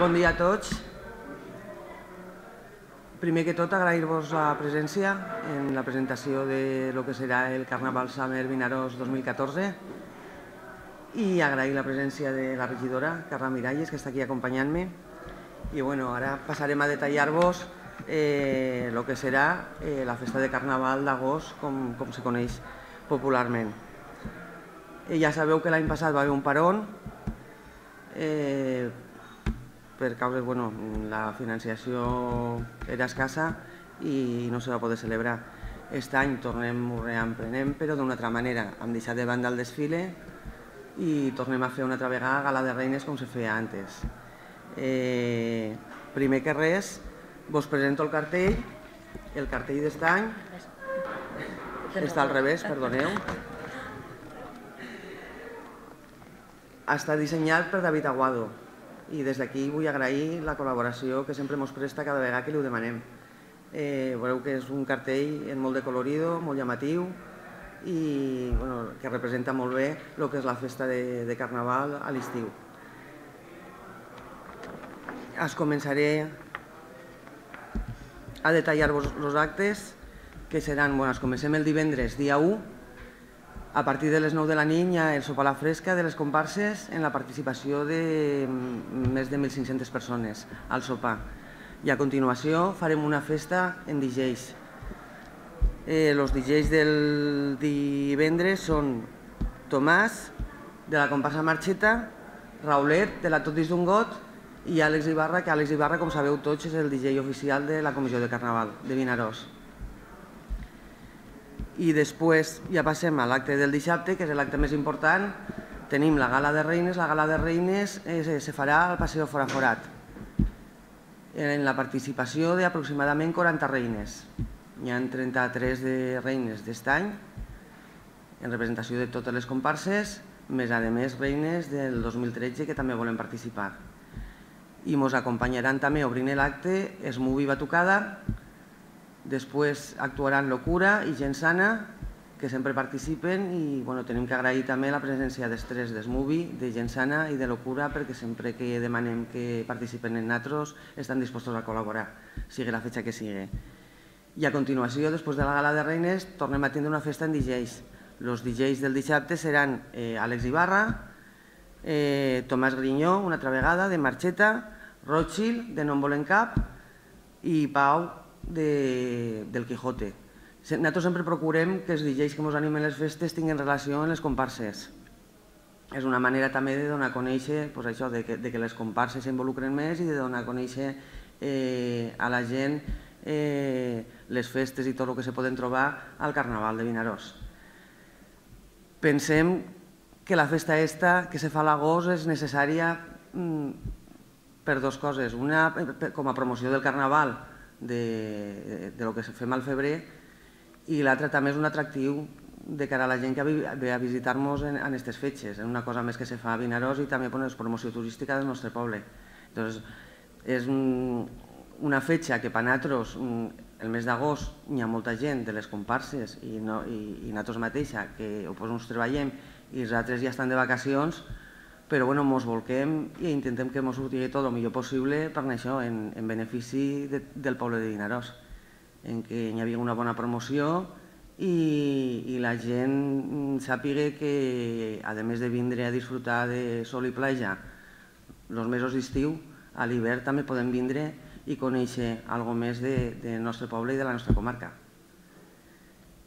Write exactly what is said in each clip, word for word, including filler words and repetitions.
Bon dia a tots. Primer que tot, agrair-vos la presència en la presentació de lo que serà el Carnaval Summer Vinaròs dos mil catorze i agrair la presència de la regidora, Carla Miralles, que està aquí acompanyant-me. I bueno, ara passarem a detallar-vos el que serà la festa de Carnaval d'agost, com se coneix popularment. Ja sabeu que l'any passat va haver un parón per causa, bueno, la financiació era escassa i no se va poder celebrar. Aquest any tornem, ho reemprenem, però d'una altra manera. Hem deixat de banda el desfile i tornem a fer una altra vegada gala de reines com se feia antes. Primer que res, vos presento el cartell. El cartell d'est any està al revés, perdoneu. Està dissenyat per David Aguado i des d'aquí vull agrair la col·laboració que sempre ens presta cada vegada que li ho demanem. Veureu que és un cartell molt de colorido, molt llamatiu i que representa molt bé el que és la festa de Carnaval a l'estiu. Es començaré a detallar-vos els actes, que seran, bueno, es comencem el divendres, dia u, a partir de les nou de la nit hi ha el sopar a la fresca de les comparses en la participació de més de mil cinc-centes persones al sopar. I a continuació farem una festa en D Js. Els D Js del divendres són Tomàs, de la comparsa Marxeta, Raulet, de la Tot dins d'un got, i Àlex Ibarra, que Àlex Ibarra, com sabeu tots, és el D J oficial de la Comissió de Carnaval de Vinaròs. I després ja passem a l'acte del dissabte, que és l'acte més important. Tenim la gala de reines. La gala de reines se farà al Paseo Foraforat, en la participació d'aproximadament quaranta reines. Hi ha trenta-tres de reines d'est any, en representació de totes les comparses, més a més reines del dos mil tretze que també volen participar. I ens acompanyaran també obrint l'acte Smubi Batucada. Després actuaran Locura i Gent Sana, que sempre participen, i tenim que agrair també la presència dels tres, de Smubi, de Gent Sana i de Locura, perquè sempre que demanem que participen en nosaltres estan disposats a col·laborar, sigui la fetxa que sigui. I a continuació, després de la gala de reines, tornem a tindre una festa en D Js. Els D Js del dissabte seran Àlex Ibarra, Tomàs Grinyó, una altra vegada, de Marxeta, Rothschild, de No en volem cap, i Pau, del Quijote. Nosaltres sempre procurem que els D Js que ens animen les festes tinguin relació amb les comparses. És una manera també de donar a conèixer això, de que les comparses s'involucren més i de donar a conèixer a la gent les festes i tot el que se poden trobar al Carnaval de Vinaròs. Pensem que la festa aquesta que se fa a l'agost és necessària per dues coses. Una, com a promoció del Carnaval, de lo que fem al febrer, i l'altra també és un atractiu de cara a la gent que ve a visitar-nos en aquestes fetges. És una cosa més que se fa a Vinaròs i també és promoció turística del nostre poble. És una fetge que per nosaltres, el mes d'agost, hi ha molta gent de les comparses i nosaltres mateixa que ens treballem i els altres ja estan de vacacions, però ens volquem i intentem que ens surti tot el millor possible per això, en benefici del poble de Vinaròs, en què hi havia una bona promoció i la gent sàpiga que, a més de vindre a disfrutar de sol i platja els mesos d'estiu, a l'hivern també podem vindre i conèixer alguna cosa més del nostre poble i de la nostra comarca.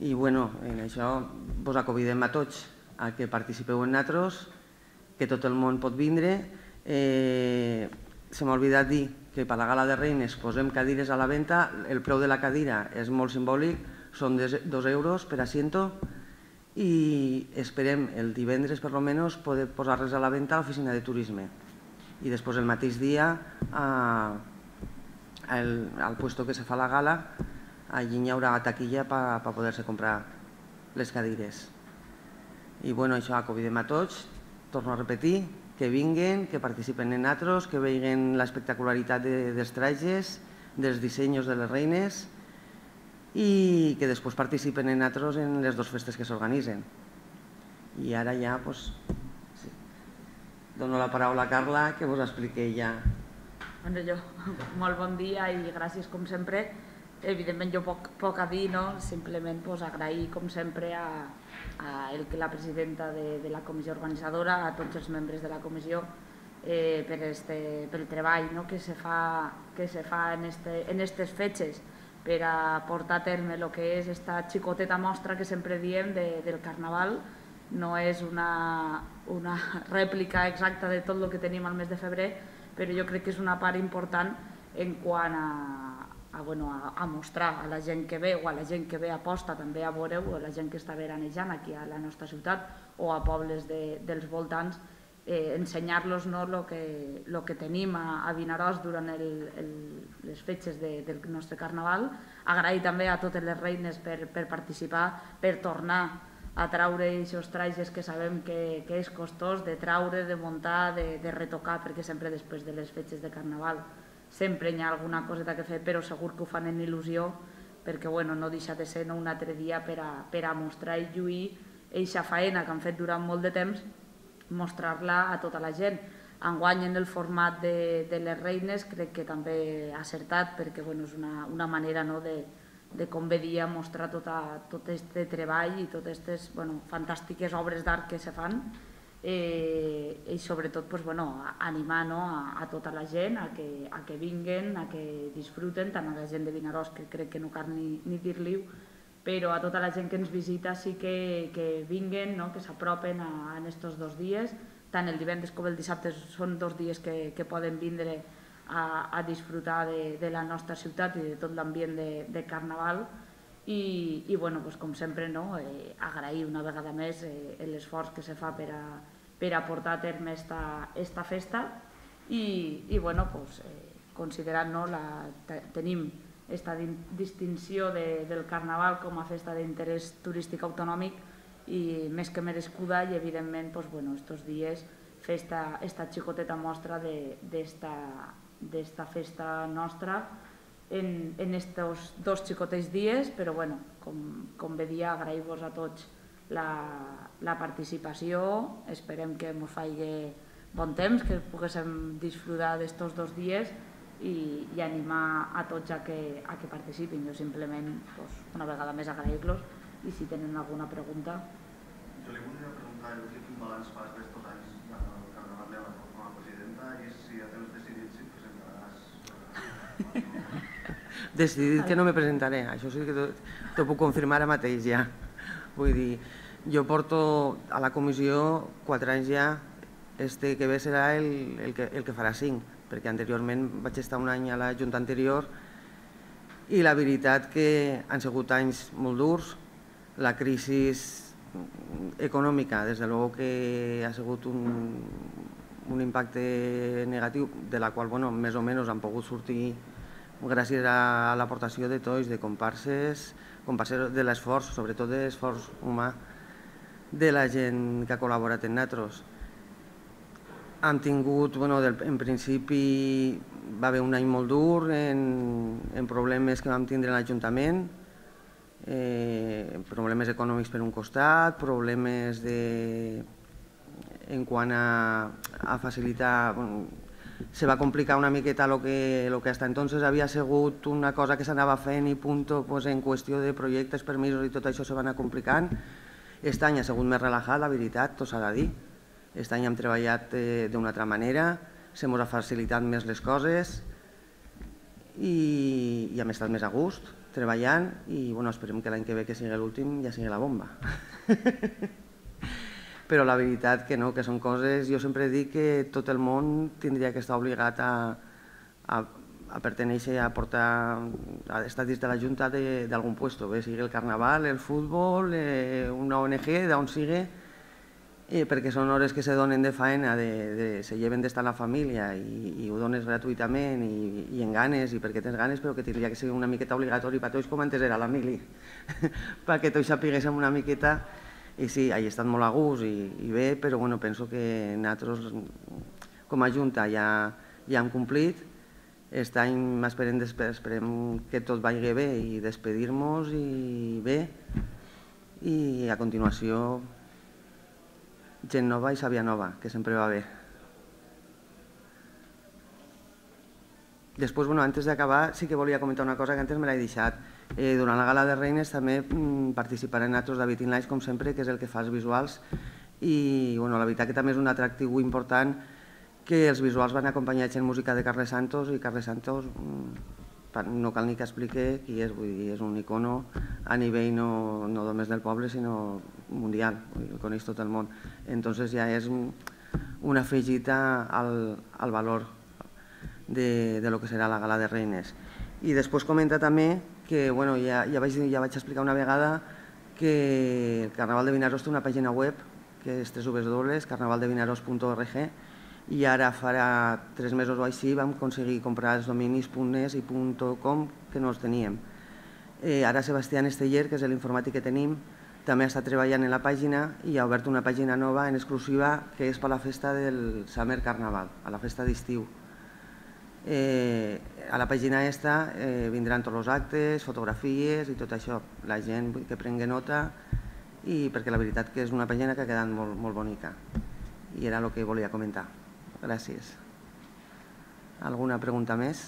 I bueno, en això vos convidem a tots a que participeu en nosaltres, que tot el món pot vindre. Se m'ha oblidat dir que per la gala de reines posem cadires a la venda. El preu de la cadira és molt simbòlic, són dos euros per asiento, i esperem el divendres per almenys poder posar-les a la venda a l'oficina de turisme. I després el mateix dia, al puesto que se fa la gala, allí hi haurà taquilla per poder-se comprar les cadires. I bueno, això, convidem a tots. Torno a repetir, que vinguin, que participen en nosaltres, que vegin l'espectacularitat dels trajes, dels dissenys de les reines i que després participen en nosaltres en les dues festes que s'organitzen. I ara ja dono la paraula a Carla, que vos expliqui ja Bueno, jo, molt bon dia i gràcies com sempre. Evidentment jo poc, poc a dir, no? Simplement pues, agrair com sempre a, a el que la presidenta de, de la comissió organitzadora, a tots els membres de la comissió eh, per este, pel treball no? que se fa, que se fa en, este, en estes fetges per a portar a terme el que és esta xicoteta mostra que sempre diem de, del Carnaval. No és una, una rèplica exacta de tot el que tenim al mes de febrer, però jo crec que és una part important en quant a, a, bueno, a, a mostrar a la gent que ve o a la gent que ve a posta també a veure-ho, o a la gent que està veranejant aquí a la nostra ciutat o a pobles de, dels voltants, eh, ensenyar-los no, lo que, lo que tenim a, a Vinaròs durant el, el, les fetges de, del nostre Carnaval. Agrair també a totes les reines per, per participar, per tornar a traure aquests trajes que sabem que, que és costós de traure, de muntar, de, de retocar, perquè sempre després de les fetges de Carnaval sempre hi ha alguna coseta que fer, però segur que ho fan en il·lusió, perquè bueno, no deixa de ser no, un altre dia per a, per a mostrar i lluir eixa faena que han fet durant molt de temps, mostrar-la a tota la gent. Enguany en el format de, de les reines crec que també ha acertat, perquè bueno, és una, una manera no, de de com ve dia mostrar tota, tot aquest treball i totes aquestes bueno, fantàstiques obres d'art que se fan eh, i sobretot pues, bueno, animar no, a, a tota la gent a que, a que vinguen, a que disfruten, tant a la gent de Vinaròs que crec que no cal ni, ni dir-li-ho, però a tota la gent que ens visita sí que, que vinguen, no, que s'apropen en aquests dos dies, tant el divendres com el dissabte són dos dies que, que poden vindre A, a disfrutar de, de la nostra ciutat i de tot l'ambient de, de Carnaval i, i bueno, pues, com sempre no, eh, agrair una vegada més eh, l'esforç que se fa per a, per a portar a terme esta, esta festa i, i bueno, pues, eh, considerant no, la, tenim aquesta distinció de, del Carnaval com a festa d'interès turístic autonòmic i més que merescuda i evidentment pues, bueno, estos dies fer esta, esta xicoteta mostra d'esta d'esta festa nostra en, en estos dos xicotets dies, però bueno, com, com bé dia, agrair-vos a tots la, la participació, esperem que ens faci bon temps, que poguéssim disfrutar d'estos dos dies i, i animar a tots a que, a que participin. Jo simplement, pues, una vegada més, agrair-los i si tenen alguna pregunta. Jo li volia preguntar quin balanç fas d'estos anys del Carnaval de la com a presidenta i si ja tens decidit si presentaràs... Decidit que no me presentaré, això sí que t'ho puc confirmar ara mateix ja. Vull dir, jo porto a la comissió quatre anys ja, este que ve serà el, el, que, el que farà cinc, perquè anteriorment vaig estar un any a la Junta anterior i la veritat que han sigut anys molt durs, la crisi econòmica, des de luego que ha sigut un, un impacte negatiu, de la qual bueno, més o menys han pogut sortir gràcies a l'aportació de tots, de comparses, comparses de l'esforç, sobretot de l'esforç humà de la gent que ha col·laborat en nosaltres. Hem tingut, bueno, del, en principi va haver un any molt dur en, en problemes que vam tindre en l'Ajuntament, eh, problemes econòmics per un costat, problemes de, en quant a, a facilitar... Bueno, se va complicar una miqueta lo que, lo que hasta entonces havia sigut una cosa que s'anava fent i punto, pues, en qüestió de projectes, permisos i tot això se va anar complicant. Aquest any ha sigut més relaxat, la veritat, tot s'ha de dir. Aquest any hem treballat eh, d'una altra manera, se mos ha facilitat més les coses i, i hem estat més a gust treballant i bueno, esperem que l'any que ve que sigui l'últim ja sigui la bomba. Però la veritat que no, que són coses... Jo sempre dic que tot el món tindria que estar obligat a, a, a pertenèixer, a portar, a estar dins de la Junta d'algun puesto, bé sigui el Carnaval, el futbol, eh, una O N G, d'on sigui, eh, perquè són hores que se donen de faena, de, de, se lleven d'estar a la família i, i ho dones gratuïtament i, i en ganes, i perquè tens ganes, però que tindria que ser una miqueta obligatori per tots, com antes era la mili, perquè tots sapiguéssim una miqueta. I sí, he estat molt a gust i, i bé, però bueno, penso que nosaltres com a Junta ja, ja hem complit. Aquest any esperem, esperem que tot vagi bé i despedir-nos i bé. I a continuació gent nova i sàvia nova, que sempre va bé. Després, bueno, antes d'acabar, sí que volia comentar una cosa que antes me l'he deixat. Eh, durant la Gala de Reines també mm, participarem nosaltres David Inlaix, com sempre, que és el que fa els visuals, i bueno, la veritat que també és un atractiu important que els visuals van acompanyats en música de Carles Santos, i Carles Santos mm, no cal ni que expliqui qui és, vull dir, és un icono a nivell no, no només del poble, sinó mundial, el coneix tot el món. Entonces ja és una afegita al, al valor de, de lo que serà la Gala de Reines. I després comenta també que, bueno, ja, ja, vaig, ja vaig explicar una vegada que el Carnaval de Vinaròs té una pàgina web que és w w w punt carnaval de vinaròs punt org, i ara farà tres mesos o així vam aconseguir comprar els dominis .nes i .com que no els teníem. Eh, ara Sebastián Esteller, que és l'informàtic que tenim, també està treballant en la pàgina i ha obert una pàgina nova en exclusiva que és per a la festa del Summer Carnaval, a la festa d'estiu. Eh, a la pàgina aquesta eh, vindran tots els actes, fotografies i tot això. La gent que prengui nota, i perquè la veritat que és una pàgina que ha quedat molt, molt bonica. I era el que volia comentar. Gràcies. Alguna pregunta més?